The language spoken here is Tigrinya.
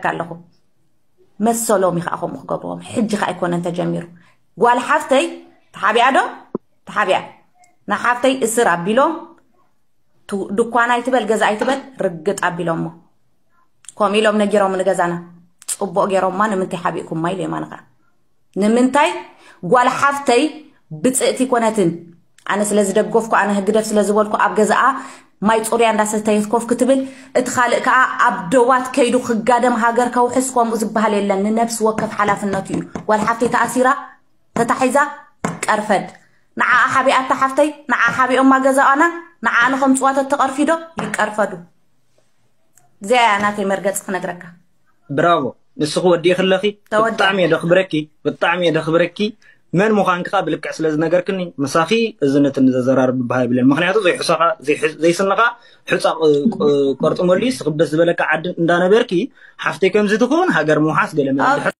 ኣለኹ። መሰሎም እዩ ከዓ ከምኡ ክገብርዎም። ሕጂ ከዓ ኣይኮነን ተጀሚሩ። ጓል ሓፍተይ ተሓቢኣ ዶ? ተሓቢኣ። ንሓፍተይ እስር ኣቢሎም ቱ- ድኳን ኣይትበል ገዛ ኣይትበል ርግጥ ኣቢሎሞ። ከምኡ ኢሎም ነጊሮም ንገዛና። ፅቡቅ ገይሮማ። ንምንታይ ሓቢእኩማ ኢለ የማንኻ። ንምንታይ ጓል ሓፍተይ ብፅእቲ ኮነትን? ኣነ ስለ ዝደገፍኩ፣ ኣነ ህግደፍ ስለ ዝበልኩ፣ ኣብ ገዛኣ ማይ ፁርያ እንዳሰተየት ኮፍ ክትብል፣ እቲ ካልእ ከዓ ኣብ ደዋት ከይዱ ክጋደም ሃገር ከውሕስ ከምኡ ዝበሃል የለን። ንነብሲ ወከፍ ሓላፍነቱ እዩ። ጓል ሓፍተይ ተኣሲራ ተታሒዛ ቀርፈድ። ንዓ ሓቢኣታ ሓፍተይ፣ ንዓ ሓቢኦማ ገዛኣና፣ ንዓ ንኸምፅዋ ተተቐርፊዶ ይቀርፈዱ። እዚኣ እያ ናተይ መርገፂ ክነግረካ። ብራቮ። ንስኺ ወዲእኺ ኣለኺ። ተወዲኣ። ብጣዕሚ እየ ደኽብረኪ። ብጣዕሚ እየ ደኽብረኪ። መን ምዃንኪ ከዓ ብልክዕ ስለ ዝነገርክኒ፣ ምሳኺ እዝነትን ዘዘራርብ ብሃ ይብለን። ምክንያቱ ዘይሕሶኻ ዘይሕ- ዘይስንኻ ሑፃ ቅ- ቅ- ቆርጥመሉ እዩ። ስኽብደት ዝበለካ ዓዲ እንዳነበርኪ፣ ሓፍተይ ከምዚ ትኸውን፣ ሃገር ምውሓስ ገለ መለ ኣብ- ድሕር